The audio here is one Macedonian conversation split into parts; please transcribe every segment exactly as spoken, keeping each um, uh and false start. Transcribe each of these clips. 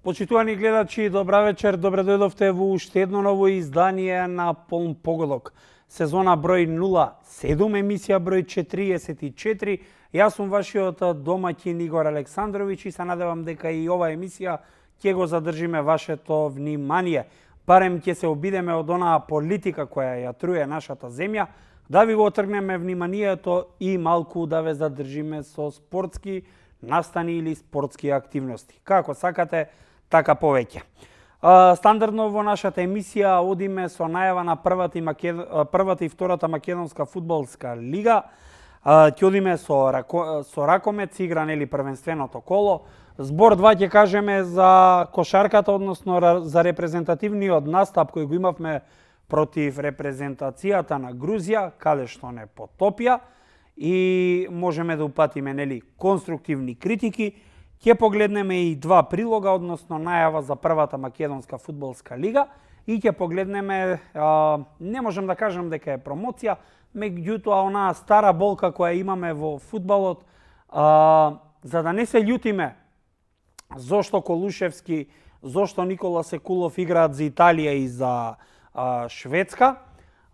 Почитувани гледачи, добра вечер, добре дојдовте во уште едно ново издание на Полн погодок. Сезона број нула седум, емисија број четириесет и четири. Јас сум вашиот домаќин Игор Александровиќ и се надевам дека и ова емисија ќе го задржиме вашето внимание. Барем ќе се обидеме од онаа политика која ја труе нашата земја, да ви го отргнеме вниманието и малку да ве задржиме со спортски настани или спортски активности. Како сакате, така повеќе. Стандардно во нашата емисија одиме со најава на првата и, Макед... првата и втората македонска фудбалска лига. Ќе одиме со, рако... со ракомет, се игра нели првенственото коло. Збор два ќе кажеме за кошарката, односно за репрезентативниот настап кој го имавме против репрезентацијата на Грузија, каде што не потопија и можеме да упатиме нели конструктивни критики. Ќе погледнеме и два прилога, односно најава за првата македонска фудбалска лига и ќе погледнеме, а, не можам да кажам дека е промоција, меѓутоа онаа стара болка која имаме во фудбалот, а, за да не се љутиме зошто Колушевски, зошто Никола Секулов играат за Италија и за а, Шведска,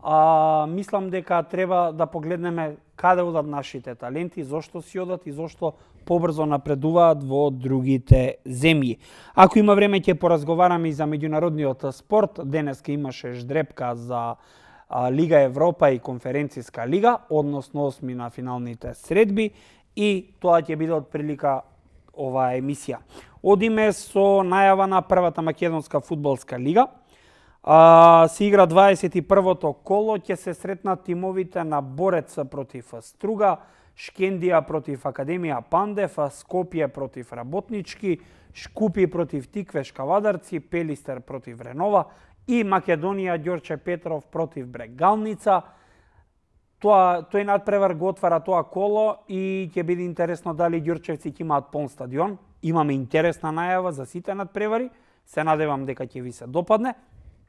а, мислам дека треба да погледнеме каде одат нашите таленти, зошто си одат и зошто побрзо напредуваат во другите земји. Ако има време ќе поразговараме и за меѓународниот спорт. Денеска имаше ждрепка за а, Лига Европа и Конференцијска лига, односно осми на финалните средби и тоа ќе биде од прилика оваа емисија. Одиме со најава на првата македонска фудбалска лига. А, се игра дваесет и првото коло, ќе се сретнат тимовите на Борец против Струга, Шкендија против Академија Пандев, Скопје против Работнички, Шкупи против Тиквеш Кавадарци, Пелистер против Ренова и Македонија Ѓорче Петров против Брегалница. Тоа, тој надпревар го отвара тоа коло и ќе биде интересно дали ѓорчевци ќе имаат полн стадион. Имаме интересна најава за сите надпревари, се надевам дека ќе ви се допадне.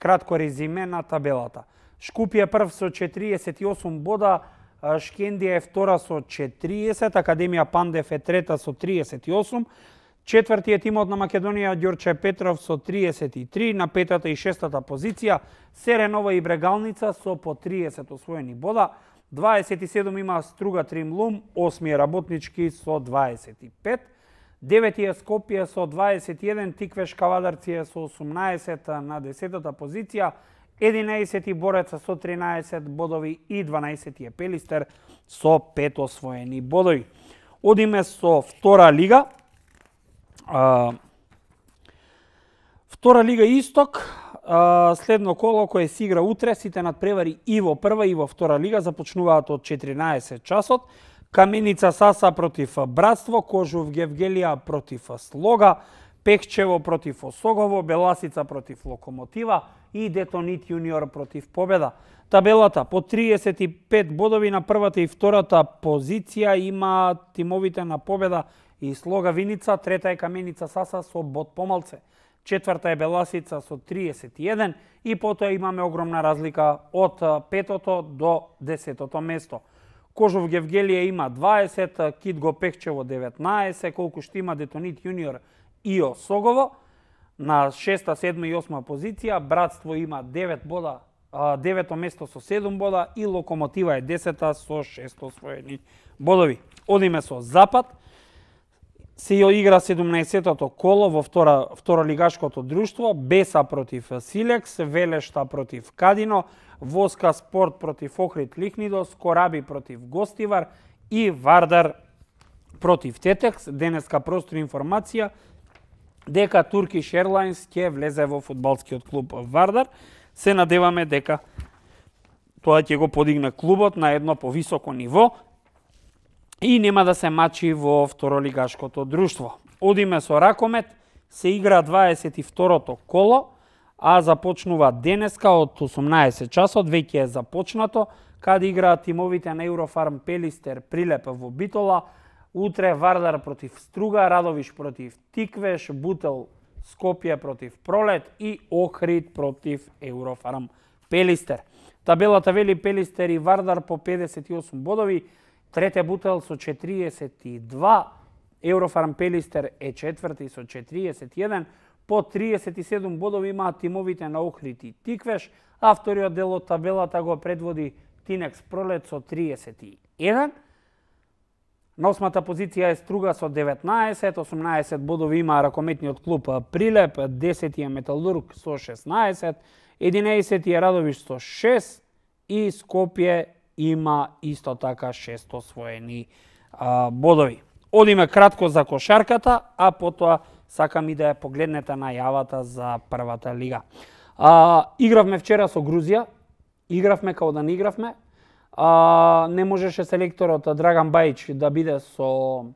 Кратко резиме на табелата. Шкупје прв со четириесет и осум бода, Шкендија е втора со четириесет, Академија Пандев е трета со триесет и осум, четврти е тимот на Македонија Ѓорче Петров со триесет и три, на петата и шестата позиција се Ренова и Брегалница со по триесет освоени бода, дваесет и седум има Струга Тримлум, осми е Работнички со дваесет и пет, девети е Скопје со дваесет и еден, Тиквеш Кавадарци е со осумнаесет на десетата позиција, единаесети Бореца со тринаесет бодови и дванаесети е Пелистер со пет освоени бодови. Одиме со втора лига. А, втора лига Исток, а, следно коло кое се игра утре, сите надпревари и во прва и во втора лига започнуваат од четиринаесет часот. Каменица Саса против Братство, Кожув Гевгелија против Слога, Пехчево против Осогово, Беласица против Локомотива и Детонит Јуниор против Победа. Табелата по триесет и пет бодови на првата и втората позиција има тимовите на Победа и Слога Виница, трета е Каменица Саса со бод помалце. Четврта е Беласица со триесет и еден и потоа имаме огромна разлика од петото до десетото место. Кожув Гевгелија има дваесет, Китго Пехчево деветнаесет, колку што има Детонит Јуниор и Осогово. На шеста, седма и осма позиција, Братство има девет бода, девето место со седум бода и Локомотива е десета со шест освоени бодови. Одиме со Запад. Се игра седумнаесетото коло во втора, второлигашкото друштво, Беса против Силекс, Велешта против Кадино, Воска Спорт против Охрид Лихнидос, Кораби против Гостивар и Вардар против Тетекс. Денеска простор информација дека Turkish Airlines ќе влезе во фудбалскиот клуб Вардар. Се надеваме дека тоа ќе го подигне клубот на едно повисоко ниво и нема да се мачи во второлигашкото друштво. Одиме со ракомет, се игра дваесет и второто коло, а започнува денеска од осумнаесет часот, веќе е започнато, каде играат тимовите на Еврофарм Пелистер Прилеп во Битола, утре Вардар против Струга, Радовиш против Тиквеш, Бутел Скопје против Пролет и Охрид против Еврофарм Пелистер. Табелата вели Пелистер и Вардар по педесет и осум бодови, трете Бутел со четириесет и два, Еврофарм Пелистер е четврти со четириесет и еден, По триесет и седум бодови имаат тимовите на Охрид и Тиквеш, а вториот дел од табелата го предводи Тинекс Пролет со триесет и еден. На осмата позиција е Струга со деветнаесет, осумнаесет бодови има ракометниот клуб Прилеп, десети е Металург со шеснаесет, единаесети е Радовиш со шест и Скопје има исто така шест освоени а, бодови. Одиме кратко за кошарката, а потоа сакам и да ја погледнете најавата за првата лига. А, игравме вчера со Грузија, игравме као да не игравме. А, не можеше селекторот Драган Бајич да биде со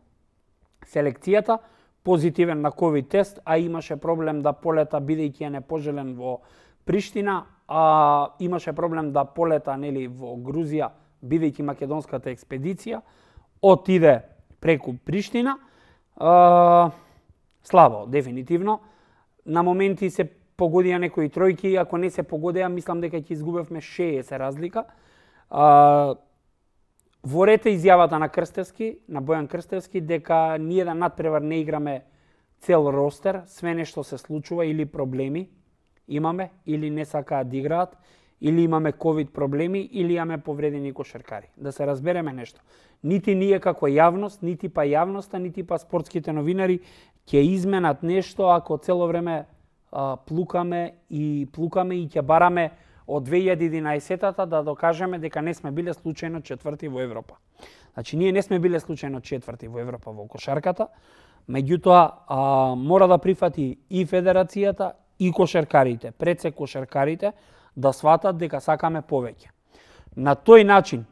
селекцијата, позитивен на ковид тест, а имаше проблем да полета бидејќи е непожелен во Приштина, а имаше проблем да полета нели во Грузија бидејќи македонската експедиција отиде преку Приштина. А, слабо, дефинитивно. На моменти се погодија некои тројки, ако не се погодеа, мислам дека ќе изгубевме шеесет разлика. А, во ред е изјавата на Крстевски, на Бојан Крстевски, дека ние да надпревар не играме цел ростер, све нешто се случува или проблеми имаме, или не сакаат да играат, или имаме ковид проблеми, или имаме повредени кошаркари. Да се разбереме нешто. Нити ние како јавност, нити па јавноста, нити па спортските новинари ќе изменат нешто ако цело време а, плукаме и плукаме и ќе бараме од две илјади и единаесетата да докажеме дека не сме биле случајно четврти во Европа. Значи, ние не сме биле случајно четврти во Европа во кошарката, меѓутоа а, мора да прифати и федерацијата и кошаркарите, пред се кошаркарите, да сватат дека сакаме повеќе. На тој начин,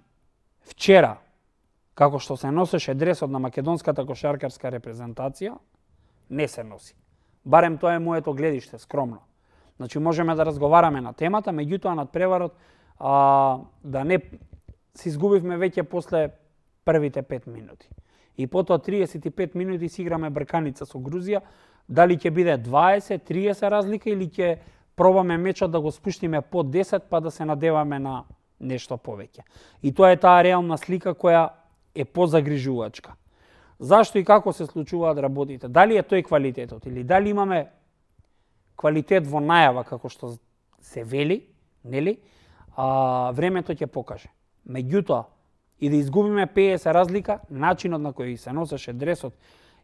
вчера, како што се носеше дресот на македонската кошаркарска репрезентација, не се носи. Барем тоа е моето гледиште, скромно. Значи, можеме да разговараме на темата, меѓутоа над преварот а, да не се изгубивме веќе после првите пет минути. И потоа триесет и пет минути си играме брканица со Грузија, дали ќе биде дваесет, триесет разлика или ќе пробаме мечот да го спуштиме под десет па да се надеваме на нешто повеќе. И тоа е таа реална слика која е позагрижувачка. Зашто и како се случуваат работите? Дали е тој квалитетот или дали имаме квалитет во најава како што се вели, нели? А, времето ќе покаже. Меѓутоа, и да изгубиме петдесет разлика, начинот на кој се носеше дресот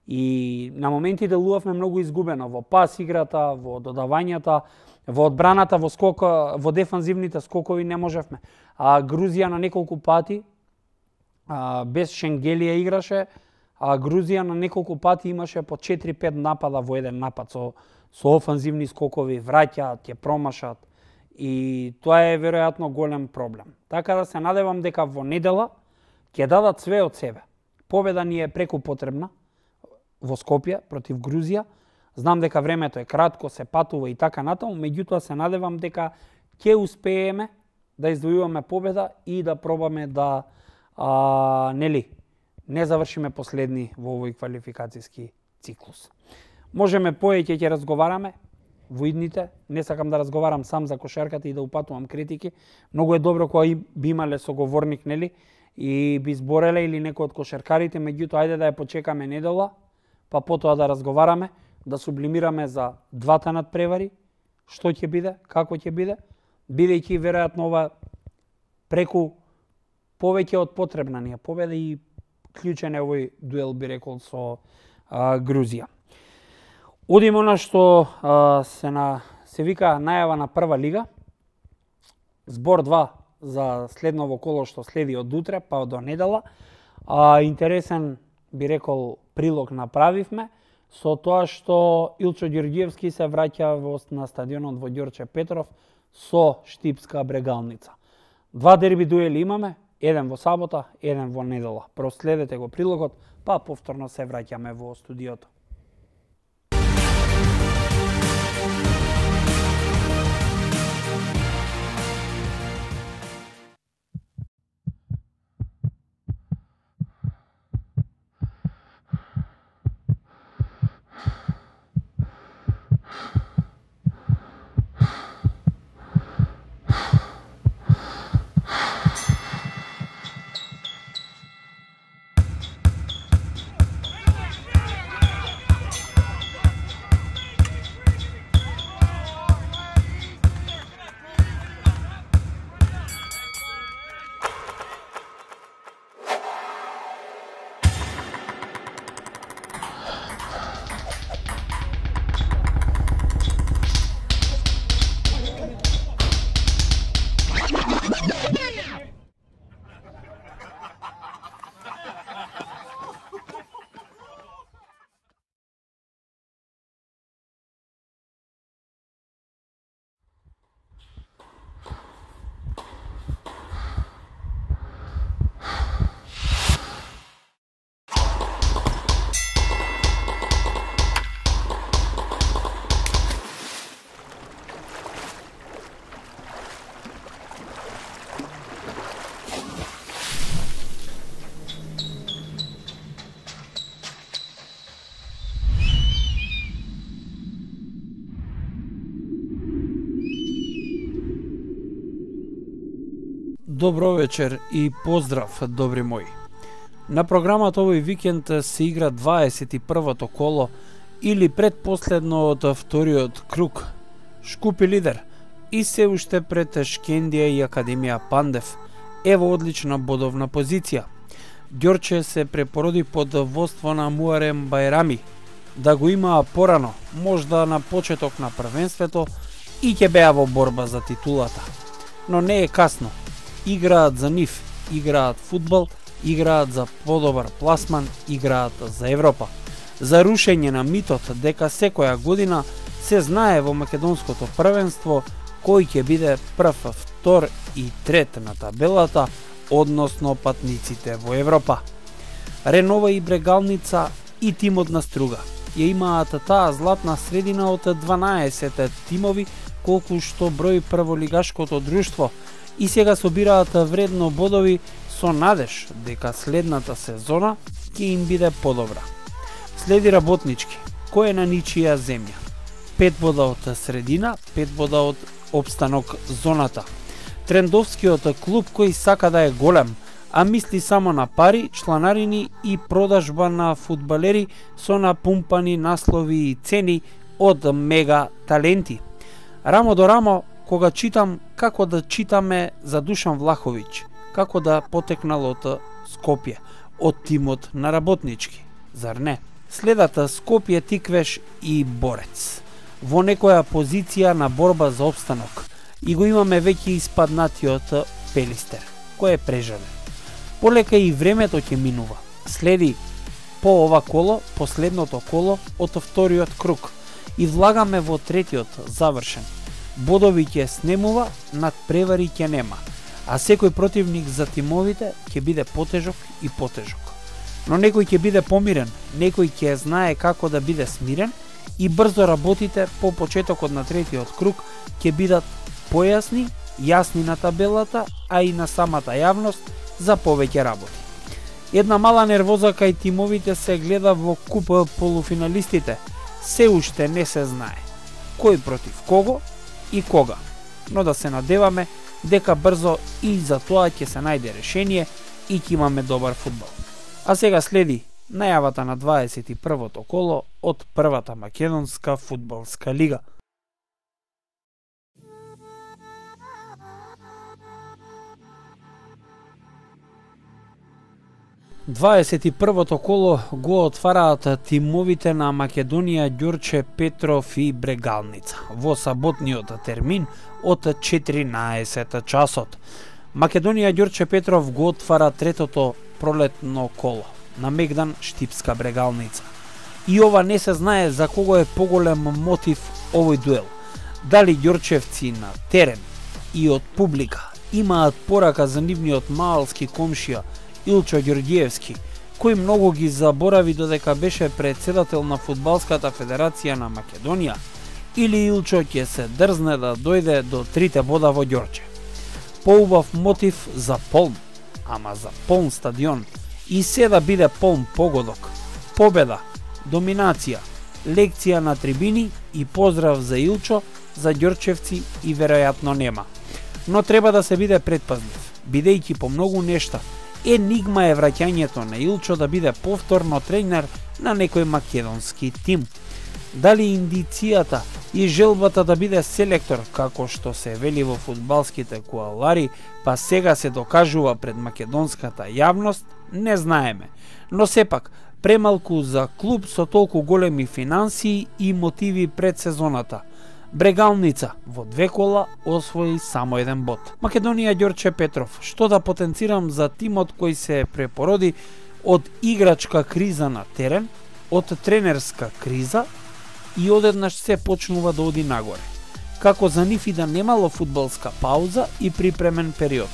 и на моменти делувавме многу изгубено во пас играта, во додавањата, во одбраната, во скок, во дефанзивните скокови не можевме. А Грузија на неколку пати а, без Шенгелија играше, а Грузија на неколку пати имаше по четири-пет напада во еден напад со со офанзивни скокови, враќаат, ќе промашат и тоа е веројатно голем проблем. Така да се надевам дека во недела ќе дадат све од себе. Победа ни е преку потребна во Скопје против Грузија. Знам дека времето е кратко, се патува и така натаму, меѓутоа се надевам дека ќе успееме да издвојуваме победа и да пробаме да а, нели не завршиме последни во овој квалификацијски циклус. Можеме поеќе ќе разговараме во идните, не сакам да разговарам сам за кошарката и да упатувам критики. Многу е добро кога би имале соговорник, нели, и би збореле или некој од кошаркарите, меѓутоа ајде да ја почекаме недела, па потоа да разговараме, да сублимираме за двата надпревари, што ќе биде, како ќе биде, бидејќи веројатно ова преку повеќе од потребна ни е победа и клучен е овој дуел, би рекол, со а, Грузија. Одиме на што а, се, на, се вика најава на прва лига. Збор два за следново коло што следи од утре, па до недела. А, интересен, би рекол, прилог направивме со тоа што Илчо Ѓорѓиевски се враќа во, на стадионот во Ѓорче Петров со Штипска Брегалница. Два дерби дуели имаме, еден во сабота, еден во недела. Проследете го прилогот, па повторно се враќаме во студиото. Добро вечер и поздрав, добри мои. На програмата овој викенд се игра дваесет и првото коло или предпоследно од вториот круг. Шкупи лидер и се уште пред Шкендија и Академија Пандев е во одлична бодовна позиција. Ѓорче се препороди под водство на Муарем Байрами. Да го имаа порано, можда на почеток на првенството, и ќе беа во борба за титулата. Но не е касно. Играат за нив, играат фудбал, играат за подобар пласман, играат за Европа. За рушење на митот дека секоја година се знае во македонското првенство кој ќе биде прв, втор и трет на табелата, односно патниците во Европа. Ренова и Брегалница и тимот на Струга ја имаат таа златна средина од дванаесет тимови колку што брои прволигашкото друштво и сега собираат вредно бодови со надеж дека следната сезона ќе им биде подобра. Следи Работнички, кој е на ничија земја. Пет бода од средина, пет бода од опстанок зоната. Трендовскиот клуб кој сака да е голем, а мисли само на пари, чланарини и продажба на фудбалери со напумпани наслови и цени од мега таленти. Рамо до рамо, кога читам како да читаме за Душан Влаховиќ, како да потекнал од Скопје, од тимот на Работнички, зар не? Следат Скопје, Тиквеш и Борец. Во некоја позиција на борба за опстанок и го имаме веќе испаднатиот Пелистер, кој е прежален. Полека и времето ќе минува. Следи по ова коло, последното коло од вториот круг и влагаме во третиот завршен. Бодови ќе снемува, над превари ќе нема, а секој противник за тимовите ќе биде потежок и потежок. Но некој ќе биде помирен, некој ќе знае како да биде смирен и брзо работите по почетокот на третиот круг ќе бидат појасни, јасни на табелата, а и на самата јавност за повеќе работи. Една мала нервоза кај тимовите се гледа во куп полуфиналистите. Се уште не се знае кој против кого и кога, но да се надеваме дека брзо и за тоа ќе се најде решение и ќе имаме добар фудбал. А сега следи најавата на дваесет и првото коло од првата македонска фудбалска лига. дваесет и првото коло го отвараат тимовите на Македонија, Ѓорче, Петров и Брегалница во саботниот термин од четиринаесет часот. Македонија, Ѓорче, Петров го отвара третото пролетно коло на Мегдан, Штипска Брегалница. И ова не се знае за кого е поголем мотив овој дуел. Дали ѓорчевци на терен и од публика имаат порака за нивниот маалски комшија Илчо Ѓорѓиевски, кој многу ги заборави додека беше председател на Фудбалската федерација на Македонија, или Илчо ќе се дрзне да дојде до трите бода во Ѓорче. Поубав мотив за полн, ама за полн стадион и се да биде полн погодок, победа, доминација, лекција на трибини и поздрав за Илчо, за ѓорчевци и веројатно нема. Но треба да се биде предпазлив, бидејќи по многу нешта енигма е враќањето на Илчо да биде повторно тренер на некој македонски тим. Дали индицијата и желбата да биде селектор, како што се вели во фудбалските куалари, па сега се докажува пред македонската јавност, не знаеме. Но сепак, премалку за клуб со толку големи финансии и мотиви пред сезоната. Брегалница во две кола освои само еден бод. Македонија, Ѓорче, Петров, што да потенцирам за тимот кој се препороди од играчка криза на терен, од тренерска криза и одеднаш се почнува да оди нагоре. Како за нив и да немало фудбалска пауза и припремен период.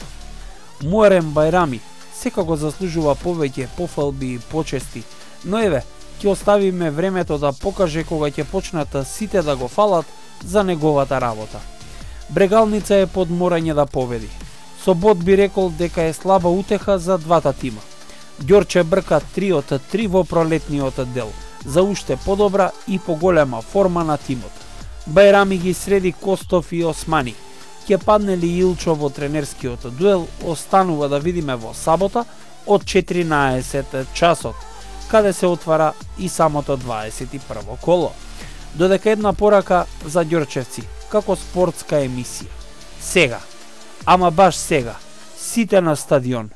Муарем Байрами секако заслужува повеќе пофалби и почести, но еве, ќе оставиме времето да покаже кога ќе почнат сите да го фалат за неговата работа. Брегалница е под морање да победи. Со бод би рекол дека е слаба утеха за двата тима. Ѓорче брка три од три во пролетниот дел, за уште подобра и поголема форма на тимот. Байрами ги среди Костов и Османи. ќе падне ли Илчо во тренерскиот дуел, останува да видиме во сабота од четиринаесет часот, каде се отвара и самото дваесет и прво коло. Додека една порака за ѓорчевци, како спортска емисија. Сега, ама баш сега, сите на стадион,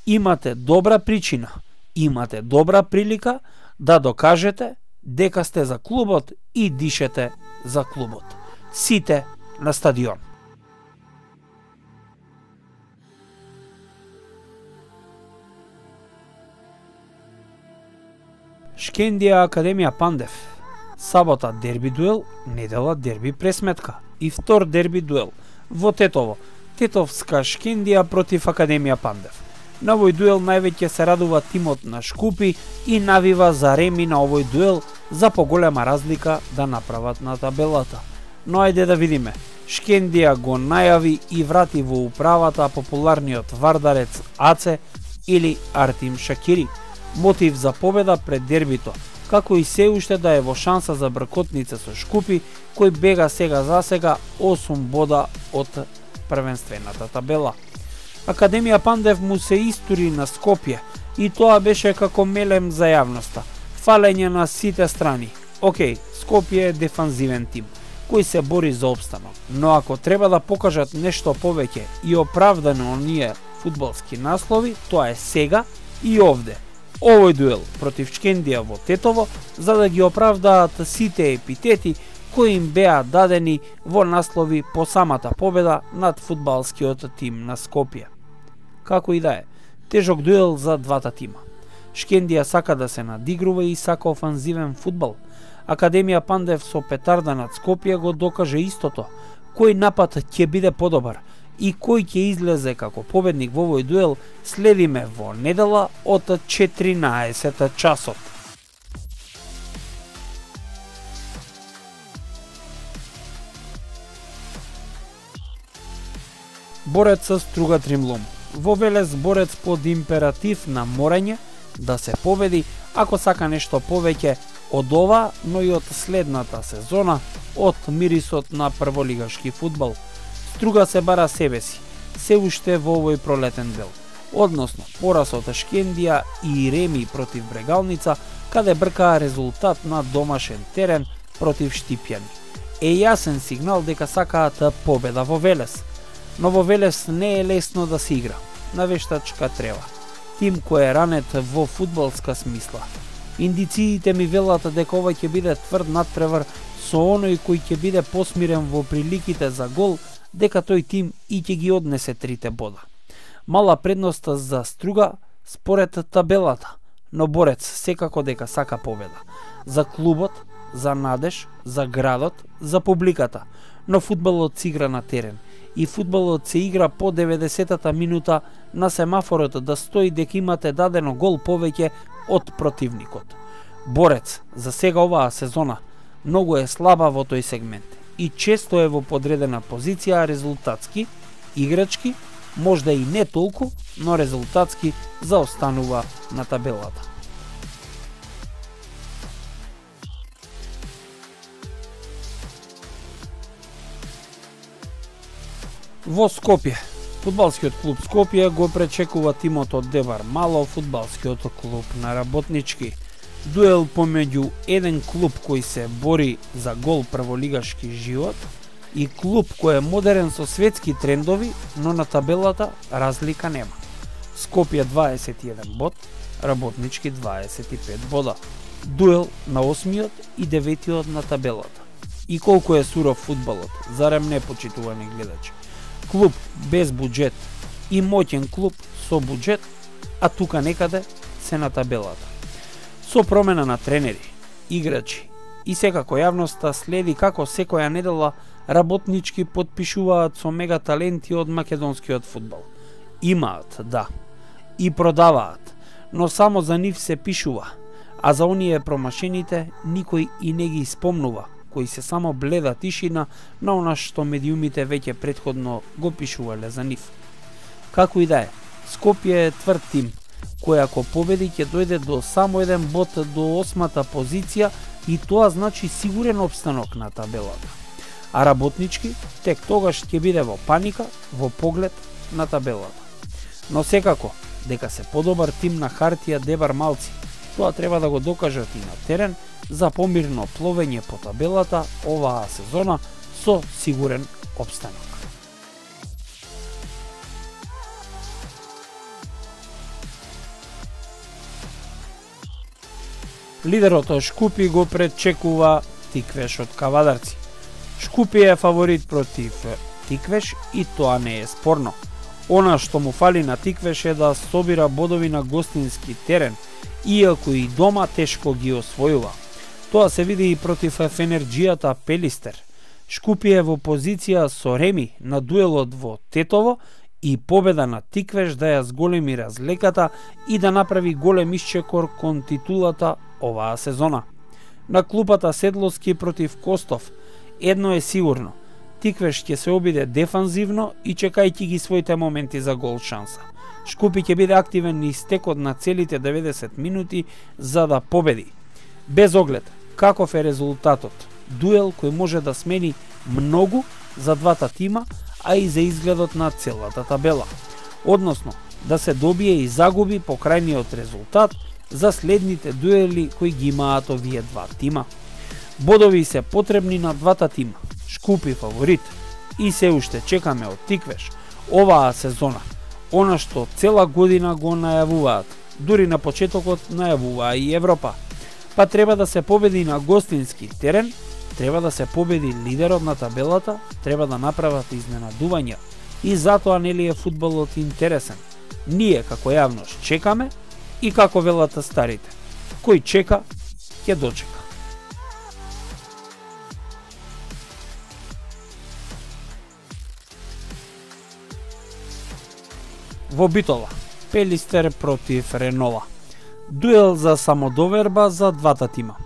имате добра причина, имате добра прилика да докажете дека сте за клубот и дишете за клубот. Сите на стадион. Шкендија Академија Пандев. Сабота дерби дуел, недела дерби пресметка и втор дерби дуел во Тетово. Тетовска Шкендија против Академија Пандев. На овој дуел највеќе се радува тимот на Шкупи и навива за реми на овој дуел за поголема разлика да направат на табелата. Но ајде да видиме. Шкендија го најави и врати во управата популарниот вардарец Аце или Артим Шакири. Мотив за победа пред дербито, како и се уште да е во шанса за бркотница со Шкупи, кој бега сега за сега осум бода од првенствената табела. Академија Пандев му се истури на Скопје и тоа беше како мелем за јавноста. Фалење на сите страни. Океј, Скопје е дефанзивен тим, кој се бори за опстанок, но ако треба да покажат нешто повеќе и оправдано оние фудбалски наслови, тоа е сега и овде. Овој дуел против Шкендија во Тетово, за да ги оправдаат сите епитети кои им беа дадени во наслови по самата победа над фудбалскиот тим на Скопје. Како и да е, тежок дуел за двата тима. Шкендија сака да се надигрува и сака офанзивен фудбал. Академија Пандев со петарда над Скопје го докаже истото, кој напад ќе биде подобар и кој ќе излезе како победник во овој дуел, следиме во недела од четиринаесет часот. Борец со Струга Тримлум. Во Велес борец под императив на морање да се победи, ако сака нешто повеќе од ова, но и од следната сезона, од мирисот на прволигашки фудбал. Струга се бара себе си, се уште во овој пролетен дел. Односно, пораз од Шкендија и реми против Брегалница, каде бркаа резултат на домашен терен против Штипјани. Е јасен сигнал дека сакаат победа во Велес. Но во Велес не е лесно да се игра. Навештачка трева. Тим кој е ранет во фудбалска смисла. Индициите ми велат дека ова ќе биде тврд надпревар со оној кој ќе биде посмирен во приликите за гол, дека тој тим и ќе ги однесе трите бода. Мала предност за Струга според табелата, но борец секако дека сака победа. За клубот, за надеж, за градот, за публиката. Но фудбалот се игра на терен и фудбалот се игра по деветдесетата минута на семафорот да стои дека имате дадено гол повеќе од противникот. Борец за сега оваа сезона многу е слаба во тој сегмент и често е во подредена позиција резултатски, играчки, можда и не толку, но резултатски заостанува на табелата. Во Скопје, фудбалскиот клуб Скопје го пречекува тимот од Дебар Мало, фудбалскиот клуб на Работнички. Дуел помеѓу еден клуб кој се бори за гол прволигашки живот и клуб кој е модерен со светски трендови, но на табелата разлика нема. Скопје дваесет и еден бод, Работнички дваесет и пет бода. Дуел на осмиот и деветиот на табелата. И колку е суров фудбалот, зарем не, почитувани гледачи? Клуб без буџет и моќен клуб со буџет, а тука некаде се на табелата. Со промена на тренери, играчи и секако јавноста следи како секоја недела Работнички подпишуваат со мега таленти од македонскиот фудбал. Имаат, да, и продаваат, но само за нив се пишува, а за оние промашените никој и не ги спомнува, кои се само бледа тишина на она што медиумите веќе претходно го пишувале за нив. Како и да е, Скопје е тврд тим, кој ако победи ќе дојде до само еден бод до осмата позиција и тоа значи сигурен опстанок на табелата. а работнички тек тогаш ќе биде во паника во поглед на табелата. Но секако, дека се подобар тим на хартија дебар малци, тоа треба да го докажат и на терен за помирно пловење по табелата оваа сезона со сигурен опстанок. Лидерот Шкупи го пречекува Тиквеш од Кавадарци. Шкупи е фаворит против Тиквеш и тоа не е спорно. Она што му фали на Тиквеш е да собира бодови на гостински терен, иако и дома тешко ги освојува. Тоа се види и против Фенерџијата Пелистер. Шкупи е во позиција со Реми на дуелот во Тетово и победа на Тиквеш да ја зголеми разлеката и да направи голем исчекор кон титулата оваа сезона. На клупата Седловски против Костов, едно е сигурно, Тиквеш ќе се обиде дефанзивно и чекајќи ги своите моменти за гол шанса. Шкупи ќе биде активен и стекот на целите деветдесет минути за да победи. Без оглед каков е резултатот, дуел кој може да смени многу за двата тима, а и за изгледот на целата табела. Односно, да се добие и загуби по крајниот резултат за следните дуели кои ги имаат овие два тима. Бодови се потребни на двата тима. Шкупи фаворит и се уште чекаме од Тиквеш оваа сезона, она што цела година го најавуваат, дури на почетокот најавуваа и Европа. Па треба да се победи на гостински терен, треба да се победи лидерот на табелата, треба да направат изненадувања и затоа нели е фудбалот интересен. Ние како јавност чекаме и како велат старите, кој чека, ќе дочека. Во Битола, Пелистер против Ренова. Дуел за самодоверба за двата тима.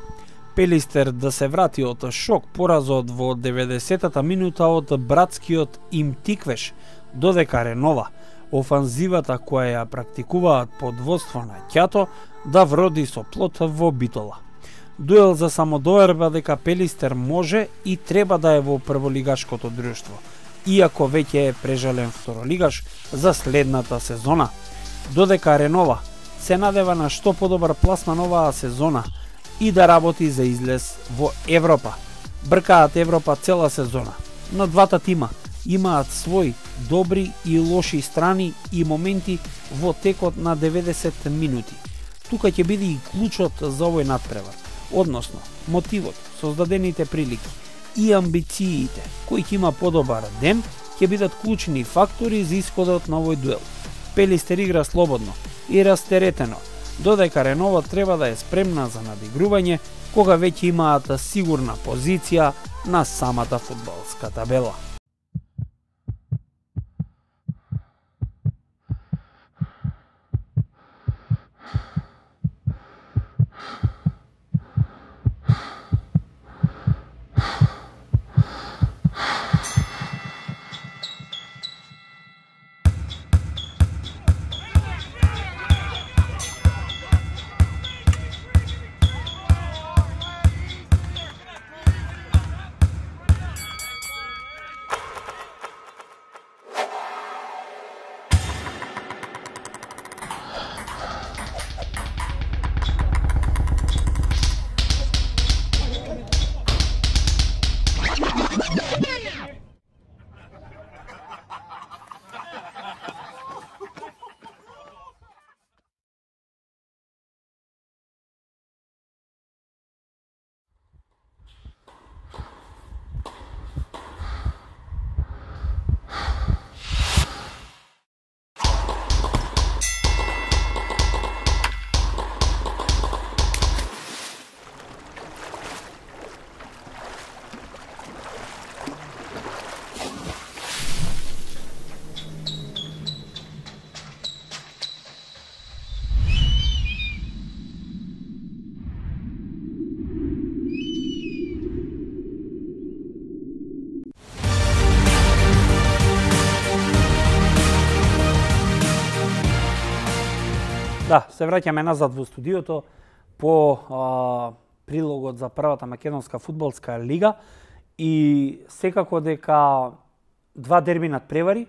Пелистер да се врати од шок поразот во деветдесетата минута од братскиот им Тиквеш, додека Ренова, офанзивата која ја практикуваат под водство на Ќато, да вроди со плод во Битола. Дуел за самодоверба дека Пелистер може и треба да е во прволигашкото друштво, иако веќе е прежален второлигаш за следната сезона. Додека Ренова се надева на што подобар пласман оваа сезона и да работи за излез во Европа. Бркаат Европа цела сезона, но двата тима имаат свои добри и лоши страни и моменти во текот на деветдесет минути. Тука ќе биде и клучот за овој надпревар, односно мотивот, создадените прилики и амбициите кои ќе има подобар ден ќе бидат клучни фактори за исходот на овој дуел. Пелистер игра слободно и растеретено, додека Ренова треба да е спремна за надигрување кога веќе имаат сигурна позиција на самата фудбалска табела. Да, се враќаме назад во студиото по а, прилогот за првата македонска фудбалска лига И секако дека два дерби надпревари,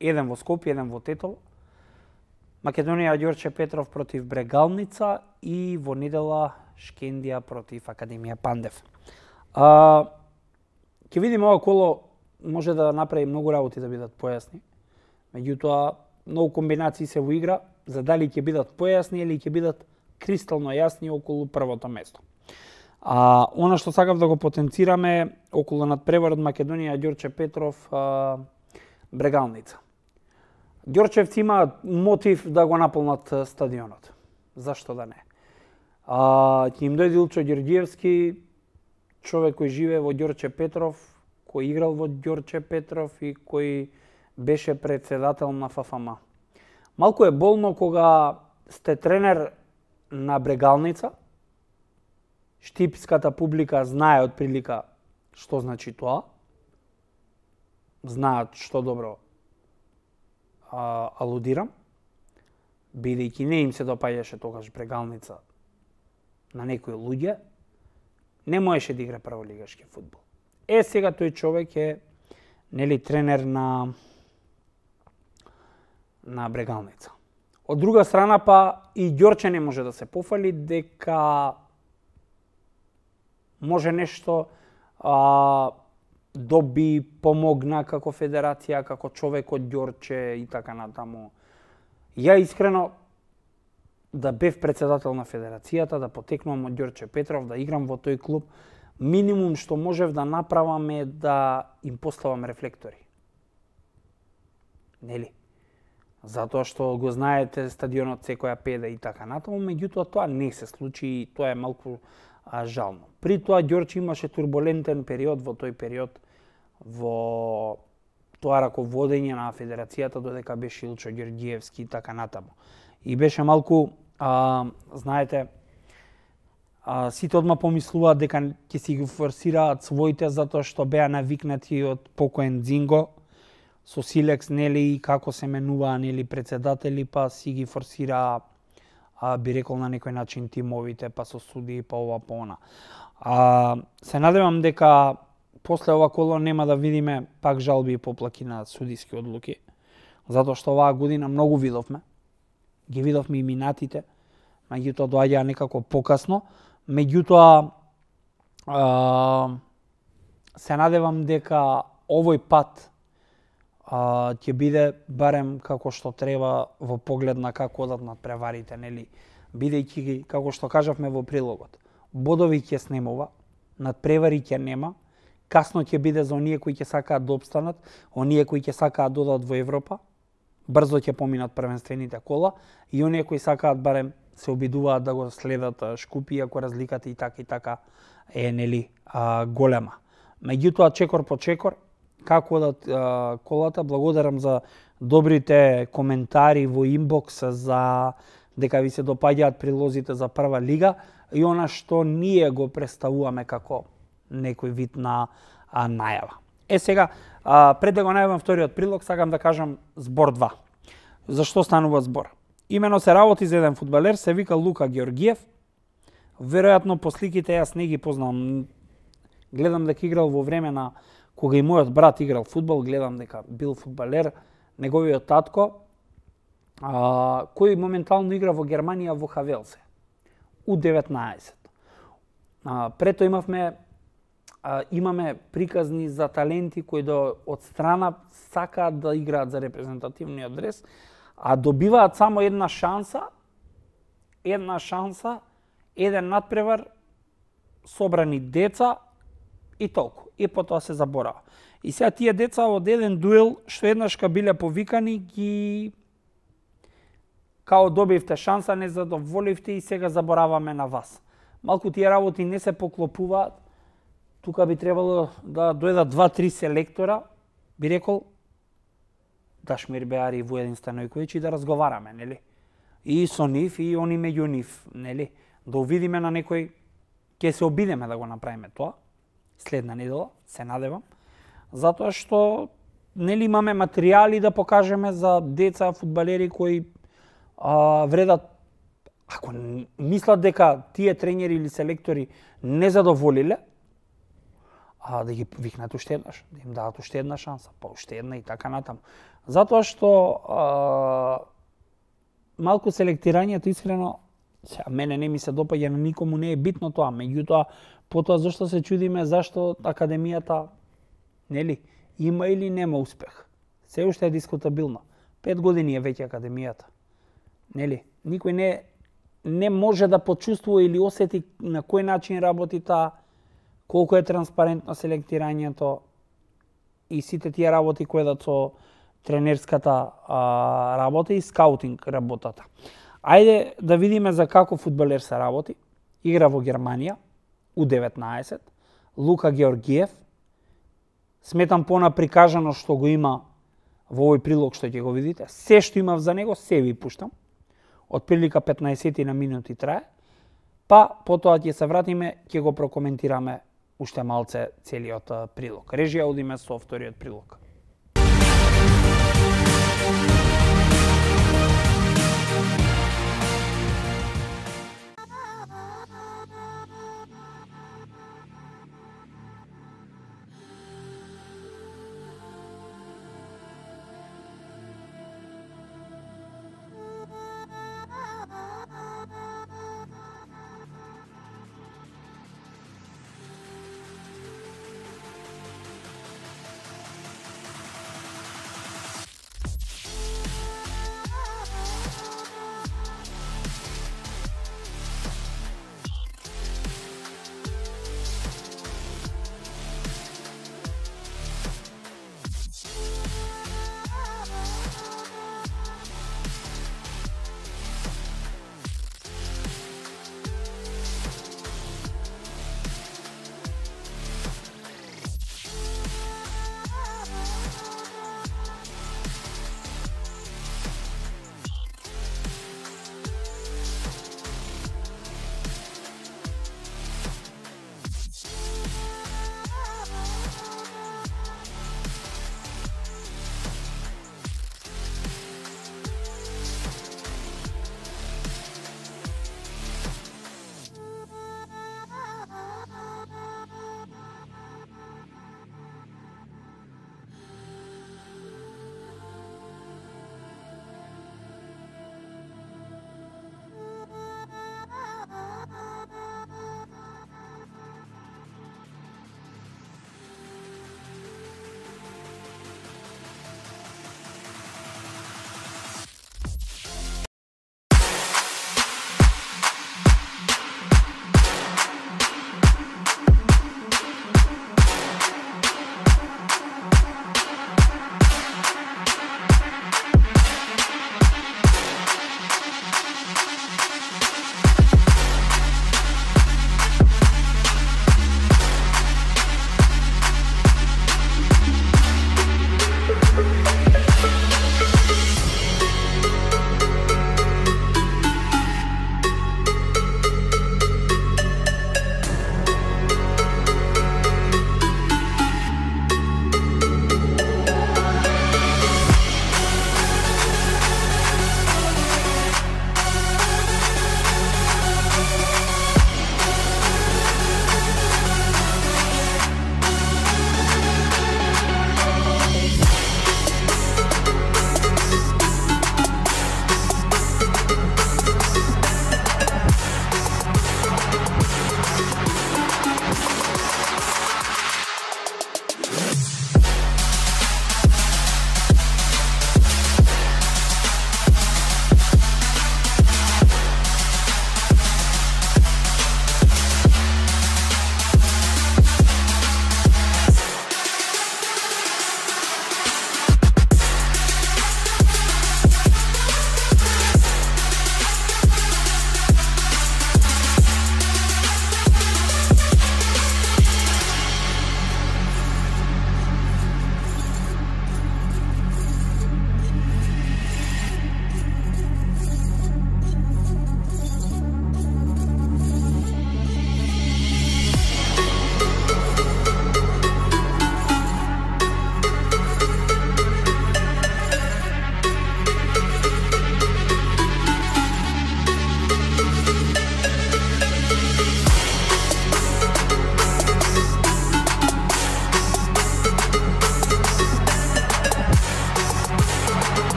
еден во Скопје, еден во Тетово. Македонија Ѓорче Петров против Брегалница и во недела Шкендија против Академија Пандев. А, ќе видиме ова коло може да направи многу работи да бидат појасни. Меѓутоа, многу комбинации се во игра, за дали ќе бидат појасни или ќе бидат кристално јасни околу првото место. А, она што сакав да го потенцираме околу надпреварот Македонија Ѓорче Петров а, Брегалница. Ѓорчевци имаат мотив да го наполнат стадионот. Зашто да не? А, ќе им дојде Илчо Ѓорѓиевски, човек кој живее во Ѓорче Петров, кој играл во Ѓорче Петров и кој беше председател на Ф Ф М. Малку е болно кога сте тренер на Брегалница, штипската публика знае од прилика што значи тоа, знаат што добро а, алудирам, бидејќи не им се допаѓаше тогаш Брегалница на некои луѓе, не можеше да игра прволигашки фудбал. Е, сега тој човек е нели тренер на на Брегалница. Од друга страна па и Ѓорче не може да се пофали дека може нешто а, доби, помогна како федерација, како човек од Ѓорче и така натаму. Ја искрено да бев председател на федерацијата, да потекнувам од Ѓорче Петров, да играм во тој клуб, минимум што можев да направам е да им поставам рефлектори. Нели? Затоа што го знаете стадионот секоја педа и така натаму, меѓутоа тоа не се случи и тоа е малку а, жално. При тоа Ѓорче имаше турбулентен период во тој период во тоа раководење на федерацијата додека беше Илчо Ѓорѓиевски и така натаму. И беше малку, а, знаете, а, сите одма помислуваат дека ќе си ги форсираат своите затоа што беа навикнати од покоен Дзинго со Силекс, нели, и како се менуваа, нели, председатели, па си ги форсира, а, би рекол на некој начин тимовите, па со суди, па ова, па она. А, се надевам дека после ова коло нема да видиме пак жалби и поплаки на судиски одлуки, затоа што оваа година многу видовме, ги видовме и минатите, меѓутоа доаѓаа некако покасно, меѓутоа а, се надевам дека овој пат а, ќе биде барем како што треба во поглед на како одат надпреварите, нели, бидејќи како што кажавме во прилогот, бодови ќе снемува, надпревари ќе нема, касно ќе биде за оние кои ќе сакаат да обстанат, оние кои ќе сакаат да одат во Европа, брзо ќе поминат првенствените кола и оние кои сакаат барем се обидуваат да го следат Шкупи, ако разликата и така и така е, нели, а, голема. Меѓутоа, чекор по чекор, како одат а, колата, благодарам за добрите коментари во инбокс за дека ви се допаѓаат прилозите за прва лига и она што ние го представуваме како некој вид на а, најава. Е сега, а, пред да го најавам вториот прилог, сакам да кажам збор два. Зашто станува збор? Имено се работи за еден фудбалер, се вика Лука Ѓорѓиев. Веројатно по сликите јас не ги познавам. Гледам дека играл во време на кога и мојот брат играл фудбал, гледам дека бил фудбалер, неговиот татко, а, кој моментално игра во Германија во Хавелсе, У деветнаесет. А, прето имавме а, имаме приказни за таленти кои до од страна сакаат да играат за репрезентативниот дрес, а добиваат само една шанса, една шанса, еден надпревар, собрани деца и толку. И потоа се заборава. И сега тие деца од еден дуел што еднашка биле повикани ги као добивте шанса, не задоволивте и сега забораваме на вас. Малку тие работи не се поклопуваат. Тука би требало да дојдат два-три селектора, би рекол Дашмир Беари и Вуедин Станојковиќ и да разговараме, нели? И со нив и они меѓу нив, нели? Да увидиме на некој, ќе се обидеме да го направиме тоа следна недела, се надевам, затоа што нели имаме материјали да покажеме за деца фудбалери кои а, вредат, ако мислат дека тие тренери или селектори не задоволиле, а да ги викнат уште еднаш, да им дадат уште една шанса, па уште една и така натаму. Затоа што а, малку селектирањето искрено, сега мене не ми се допаѓа, на никому не е битно тоа, меѓутоа потоа зашто се чудиме зашто академијата, нели, има или нема успех. Се уште е дискутабилно. Пет години е веќе академијата. Нели, никој не не може да почувствува или осети на кој начин работи таа, колку е транспарентно селектирањето и сите тие работи кои да со тренерската а, работа и скаутинг работата. Ајде да видиме за како фудбалер се работи. Игра во Германија, у деветнаесет, Лука Георгиев. Сметам понаприкажано што го има во овој прилог што ќе го видите. Се што имав за него, се ви пуштам. Од прилика петнаесет на минути трае. Па потоа ќе се вратиме, ќе го прокоментираме уште малце целиот прилог. Режија, одиме со вториот прилог.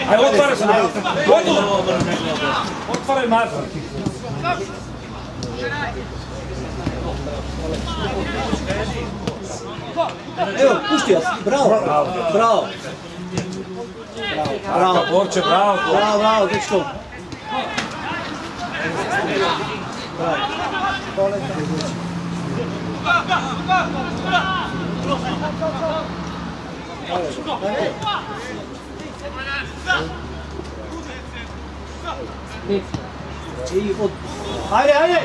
Aj, otvaraj se! Otvaraj maza! Evo, pušti vas, bravo, bravo, bravo. Bravo, Borče, bravo! bravo, bravo, dečko. I od... Hajde, hajde!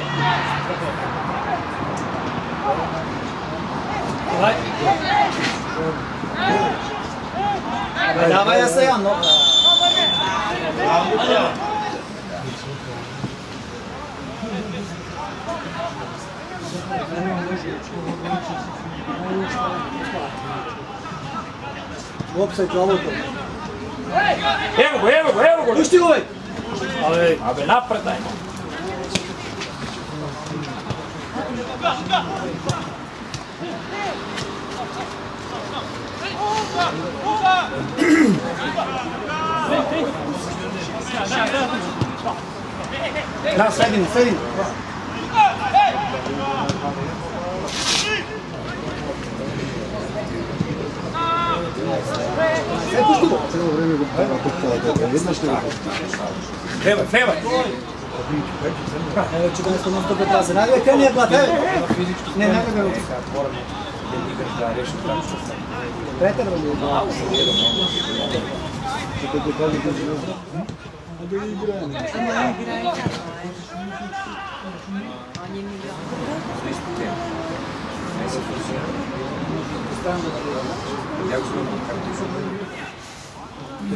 Davaj ja se Jan, no. Offside za auto. Evo go, evo go, evo go! Pušti go, bej! Ale, abe napred dajmo. Da, sredinu, sredinu. E, pušti go. Cijelo vrijeme ga pokušava, jedna što je Fevaj, fevaj! Evo četrnaesto non stop atrás. Nadie kreni je plat, evo. Ne, ne ga ruku. Preterano je. što te kaže da je da je igranje.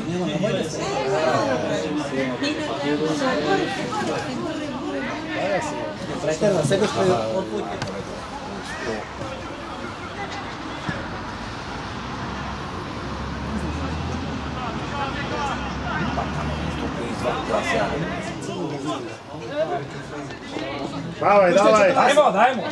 Nema, nemojte se. Preterano, sebe što je od putke. Davaj, davaj! Dajmo, dajmo!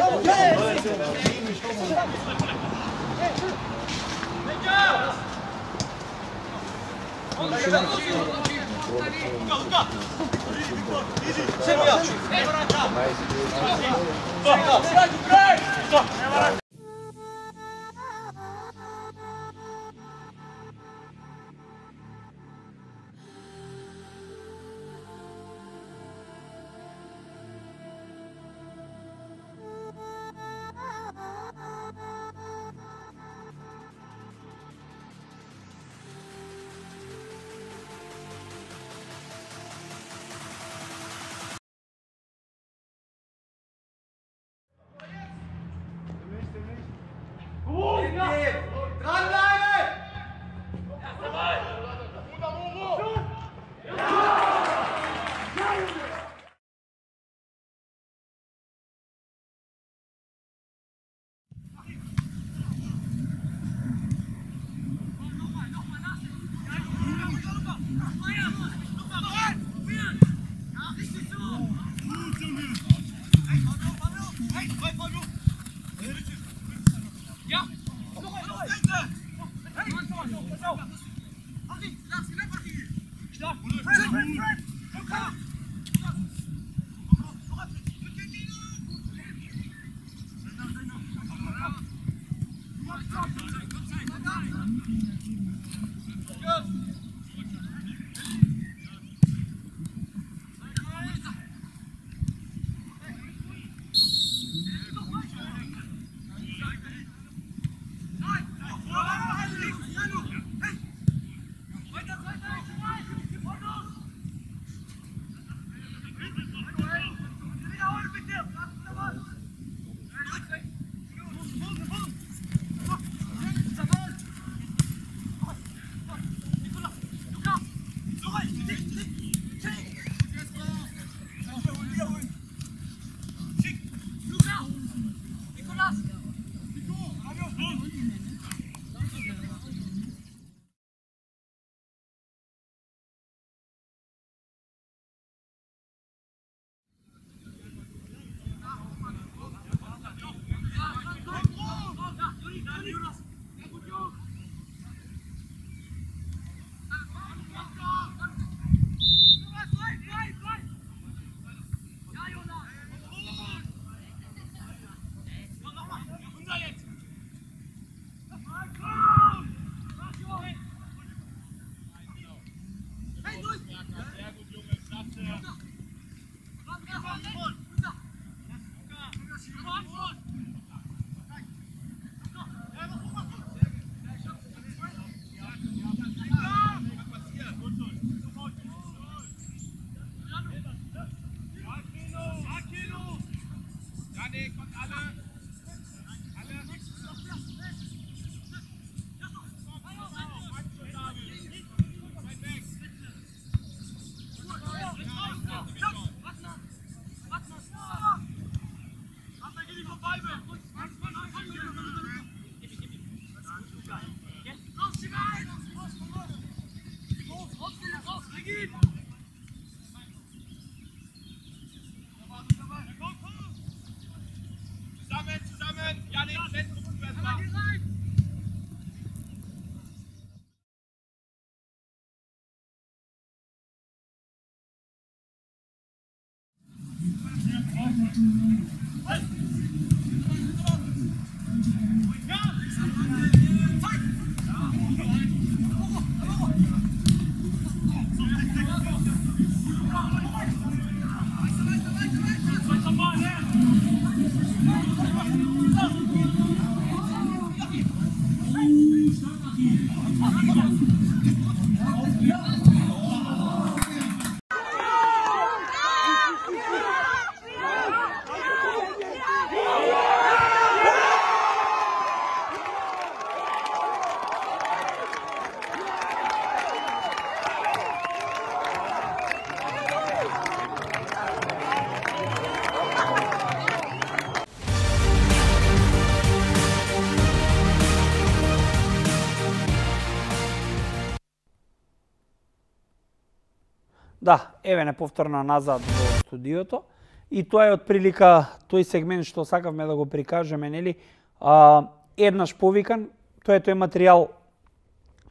Да, еве неповторно назад во студиото. И тоа е од прилика тој сегмент што сакавме да го прикажеме, нели? А, еднаш повикан, тоа е тој материјал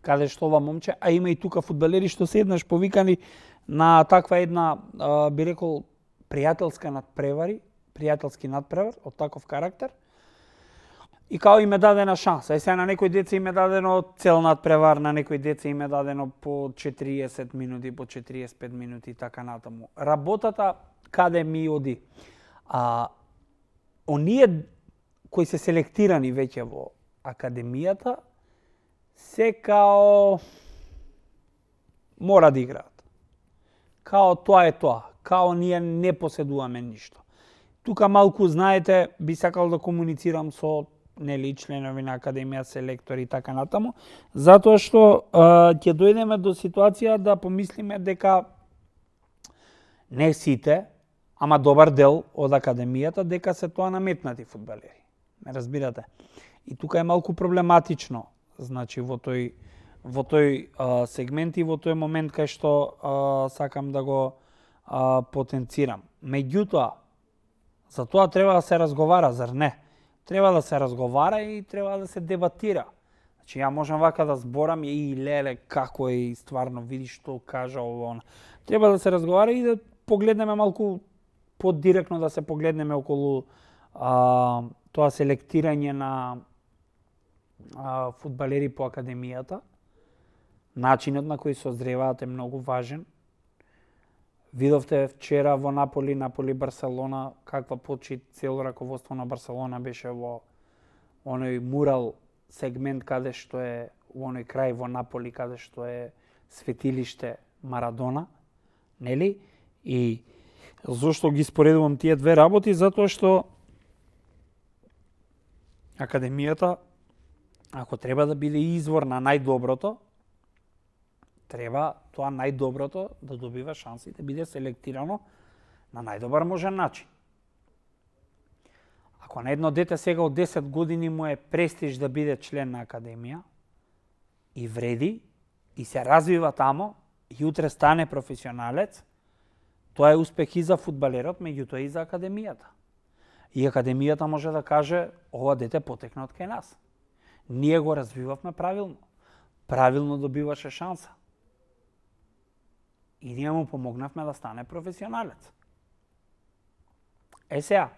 каде што ова момче, а има и тука фудбалери што се еднаш повикани на таква една, а, би рекол, пријателска надпревари, пријателски надпревар од таков карактер. И као им е дадена шанса. И сега на некои деца им е дадено цел надпревар, на некои деца им е дадено по четириесет минути, по четириесет и пет минути и така натаму. Работата каде ми оди? А, оние кои се селектирани веќе во академијата, се као мора да играат. Као тоа е тоа. Као ние не поседуваме ништо. Тука малку, знаете, би сакал да комуницирам со нели членови на академија, селектори и така натаму, затоа што а, ќе дојдеме до ситуација да помислиме дека не сите, ама добар дел од академијата, дека се тоа наметнати фудбалери. Ме разбирате? И тука е малку проблематично, значи во тој во тој а, сегмент и во тој момент кај што а, сакам да го а, потенцирам. Меѓутоа, за тоа треба да се разговара, зар не? Треба да се разговара и треба да се дебатира. Значи, ја можам вака да зборам и леле како е и стварно види што кажа ово она. Треба да се разговара и да погледнеме малку подиректно, да се погледнеме околу а, тоа селектирање на а, фудбалери по академијата. Начинот на кој созреваат е многу важен. Видовте вчера во Наполи, Наполи Барселона, каква почит цело раководство на Барселона беше во оној мурал сегмент каде што е во оној крај во Наполи каде што е светилиште Марадона, нели? И зошто ги споредувам тие две работи? Затоа што академијата, ако треба да биде извор на најдоброто, треба тоа најдоброто да добива шанси да биде селектирано на најдобар можен начин. Ако на едно дете сега од десет години му е престиж да биде член на академија и вреди и се развива тамо и утре стане професионалец, тоа е успех и за фудбалерот, меѓутоа и за академијата. И академијата може да каже ова дете потекна од кај нас. Ние го развивавме правилно. Правилно добиваше шанса. И ние му помогнавме да стане професионалец. Е сега,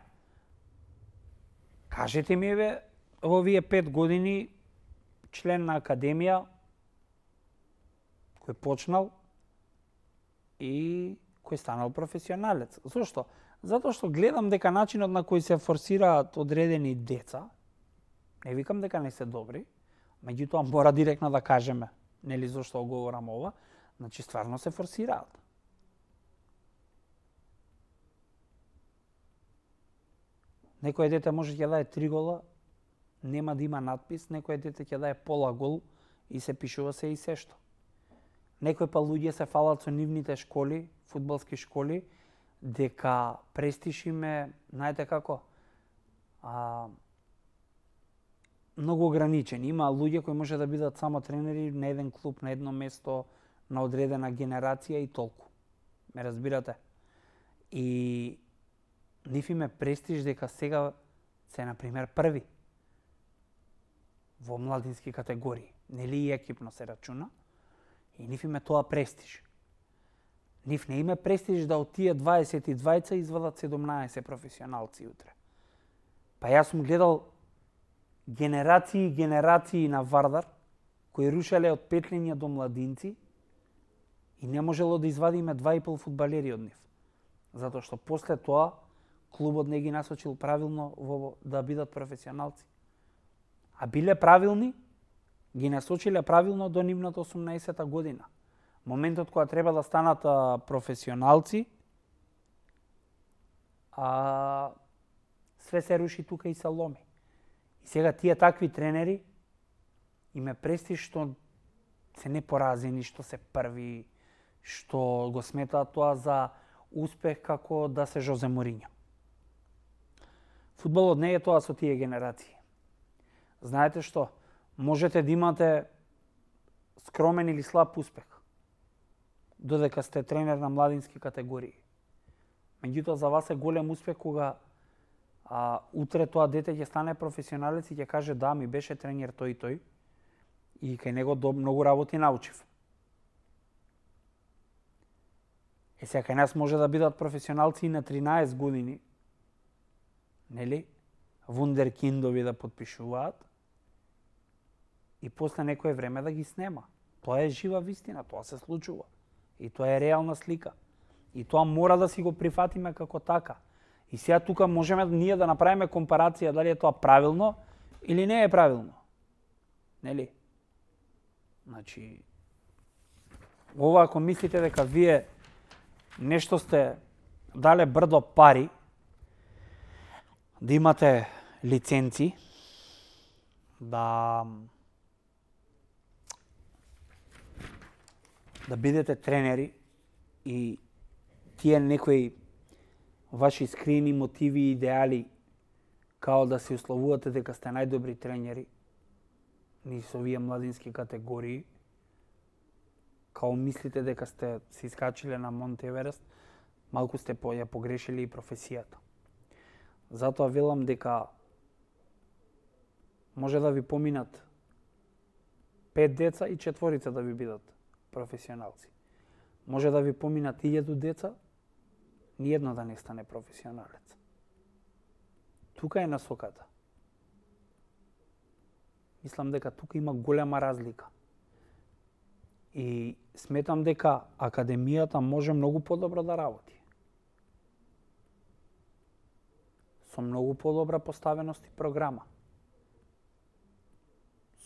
кажете ми, бе, во овие пет години член на академија, кој почнал и кој станал професионалец. Зошто? Затоа што гледам дека начинот на кој се форсираат одредени деца, не викам дека не се добри, меѓутоа мора директно да кажеме, нели зошто говорам ова, значи стварно се форсираат. Некој дете може ќе даде три гола, нема да има надпис, некој дете ќе даде пола гол и се пишува се и се што. Некој па луѓе се фалат со нивните школи, фудбалски школи, дека престиж им е, знаете како, а, многу ограничени. Има луѓе кои може да бидат само тренери на еден клуб, на едно место, на одредена генерација и толку. Ме разбирате? И нив им е престиж дека сега се, например, први во младински категории. Нели и екипно се рачуна. И нив им е тоа престиж. Нив не име престиж да од тие дваесет и двајца извадат седумнаесет професионалци утре. Па јас сум гледал генерации и генерации на Вардар, кои рушеле од петлења до младинци и не можело да извадиме два и пол фудбалери од нив. Затоа што после тоа клубот не ги насочил правилно во да бидат професионалци. А биле правилни, ги насочиле правилно до нивната осумнаесета година. Моментот кога треба да станат а, професионалци, а све се руши тука и се ломи. И сега тие такви тренери име престиж што се непоразени, што се први, што го сметаат тоа за успех како да се Жозе Морињо. Фудбалот не е тоа со тие генерации. Знаете што? Можете да имате скромен или слаб успех, додека сте тренер на младински категории. Меѓутоа за вас е голем успех кога а, утре тоа дете ќе стане професионалец и ќе каже да, ми беше тренер тој и тој и кај него до многу работи научив. Е сега кај нас може да бидат професионалци и на тринаесет години, нели? Вундеркиндови да подпишуваат и после некое време да ги снема. Тоа е жива вистина, тоа се случува. И тоа е реална слика. И тоа мора да си го прифатиме како така. И сега тука можеме ние да направиме компарација дали е тоа правилно или не е правилно. Нели? Значи, ова ако мислите дека вие нешто сте дале брдо пари, да имате лиценци, да да бидете тренери и тие некои ваши скриени мотиви и идеали као да се условувате дека сте најдобри тренери ни со овие младински категории, као мислите дека сте се искачиле на Монт Еверест, малку сте по, ја погрешили и професијата. Затоа велам дека може да ви поминат пет деца и четворица да ви бидат професионалци. Може да ви поминат илјаду деца, ниедно да не стане професионалец. Тука е насоката. Мислам дека тука има голема разлика. И сметам дека академијата може многу подобро да работи. Со многу подобра поставеност и програма.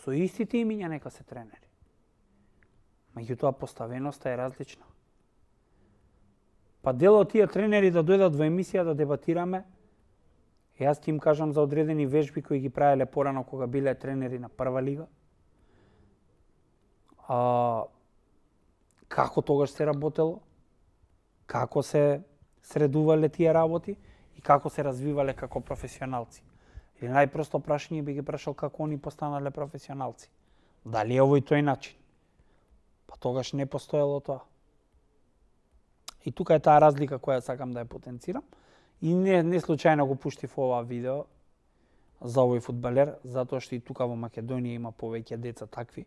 Со истите имиња нека се тренери. Меѓутоа поставеноста е различна. Па дел од тие тренери да дојдат во емисија да дебатираме, јас ќе им кажам за одредени вежби кои ги правеле порано кога биле тренери на прва лига. А, како тогаш се работело, како се средувале тие работи и како се развивале како професионалци. Или најпросто прашање би ги прашал како они постанале професионалци. Дали е овој тој начин? Па тогаш не постоело тоа. И тука е таа разлика која сакам да ја потенцирам. И не, не случајно го пуштив ова видео, за овој фудбалер, затоа што и тука во Македонија има повеќе деца такви.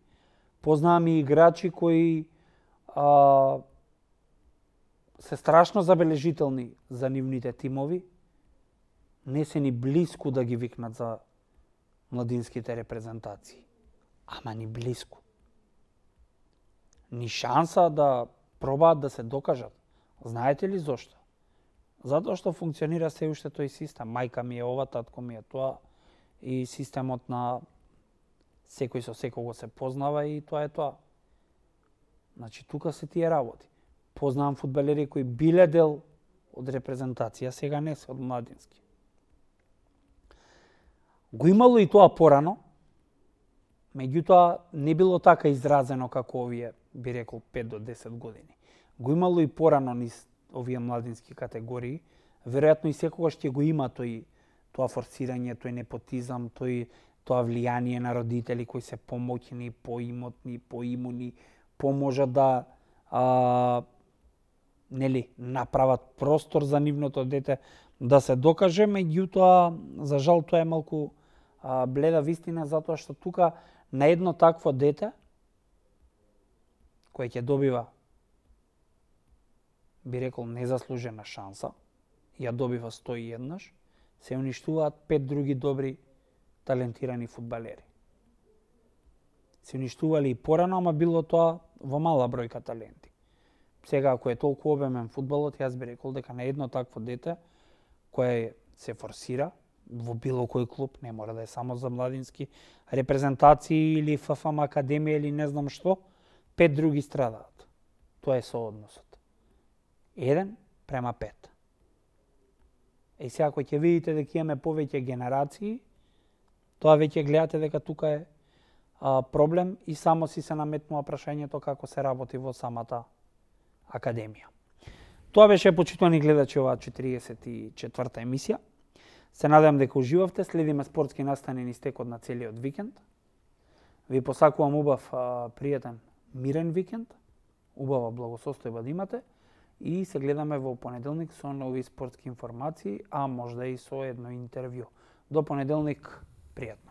Познавам и играчи кои а, се страшно забележителни за нивните тимови, не се ни блиску да ги викнат за младинските репрезентации. Ама ни блиску. Ни шанса да пробаат да се докажат. Знаете ли зошто? Затоа што функционира се уште тој систем. Мајка ми е ова, татко ми е тоа, и системот на секој со секого се познава и тоа е тоа. Значи, тука се тие работи. Познавам фудбалери кои биле дел од репрезентација, сега не се од младински. Го имало и тоа порано, меѓутоа не било така изразено како овие, би рекол, пет до десет години. Го имало и порано низ овие младински категории, веројатно и секогаш ќе го има тој тоа форсирање, тој непотизам, тој тоа влијание на родители кои се помоќни, поимотни, поимуни, поможат да а, нели направат простор за нивното дете да се докаже, меѓутоа за жал тоа е малку а, бледа вистина, затоа што тука на едно такво дете кој ќе добива, би рекол, незаслужена шанса, ја добива сто и еднаш, се уништуваат пет други добри талентирани фудбалери. Се уништували и порано, ама било тоа во мала бројка таленти. Сега, ако е толку обемен фудбалот, јас би рекол дека на едно такво дете, кое се форсира во било кој клуб, не мора да е само за младински репрезентации или ФФМ академија или не знам што, пет други страдаат. Тоа е соодносот. Еден према пет. Е сега, ако ќе видите дека имаме повеќе генерации, тоа веќе гледате дека тука е а, проблем и само си се наметнува прашањето како се работи во самата академија. Тоа беше, почитувани гледачи, оваа четириесет и четврта емисија. Се надевам дека уживавте, следиме спортски настани низ текот на целиот викенд. Ви посакувам убав, а, пријатен, мирен викенд, убава благосостојба да имате и се гледаме во понеделник со нови спортски информации, а можда и со едно интервју. До понеделник, пријатно.